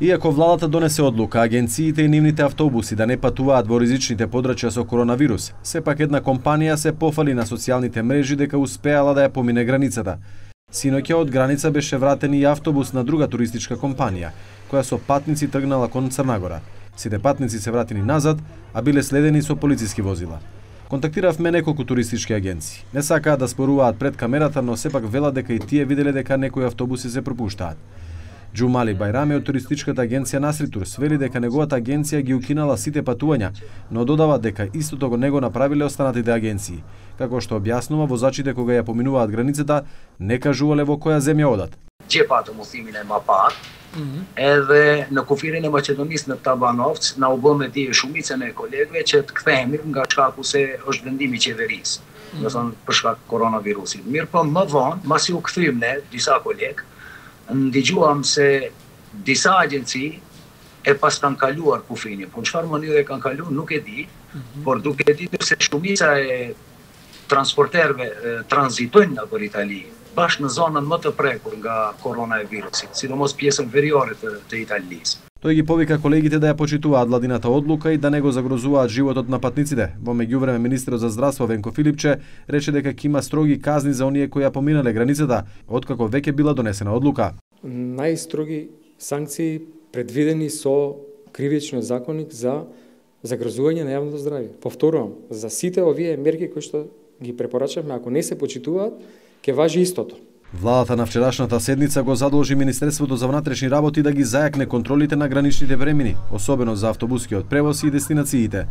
Иако владата донесе одлука агенциите и нивните автобуси да не патуваат во ризичните подрачја со коронавирус, сепак една компанија се пофали на социјалните мрежи дека успеала да ја помине границата. Синоќа од граница беше вратен и автобус на друга туристичка компанија, која со патници тргнала кон Црна Гора. Сите патници се вратени назад, а биле следени со полициски возила. Контактиравме неколку туристички агенции. Не сакаат да споруваат пред камерата, но сепак велат дека и тие виделе дека некои автобуси се пропуштаат. Џумали Бајрами од туристичката агенција Насритур свели дека неговата агенција ги укинала сите патувања, но додава дека истото го не го направиле останатите агенции. Како што објаснува, возачите кога ја поминуваат границата не кажувале во која земја одат. Џепата му thimine ma pak, edhe në kufirin e Maqedonisë në Tabanovc na u bë me dije shumicën e kolegëve që të kthehemi nga shkaku se është vendimi i qeverisë, do thonë për shkak të koronavirusit. Mirë po më vonë, masi u kthyem ne disa kolegë, ndigjuam se disa agjenci e pas kanë kaluar kufinin. Po në çfarë mënyre kanë kaluar nuk e di, por duke ditur se shumica e transporterëve tranzitojnë nga për Itali, bashkë në zonën më të prekur nga koronavirusit, sidomos pjesën veriore të Italisë. Тој ги повика колегите да ја почитуваат владината одлука и да не го загрозуваат животот на патниците. Во меѓувреме министерот за здравство Венко Филипче рече дека ќе има строги казни за оние кои ја поминале границата, откако веќе била донесена одлука. Најстроги санкции предвидени со кривичниот законник за загрозување на јавното здравје. Повторувам, за сите овие мерки кои што ги препорачавме, ако не се почитуваат, ќе важи истото. Владата на вчерашната седница го задолжи Министерството за внатрешни работи да ги зајакне контролите на граничните премини, особено за автобускиот превоз и дестинациите.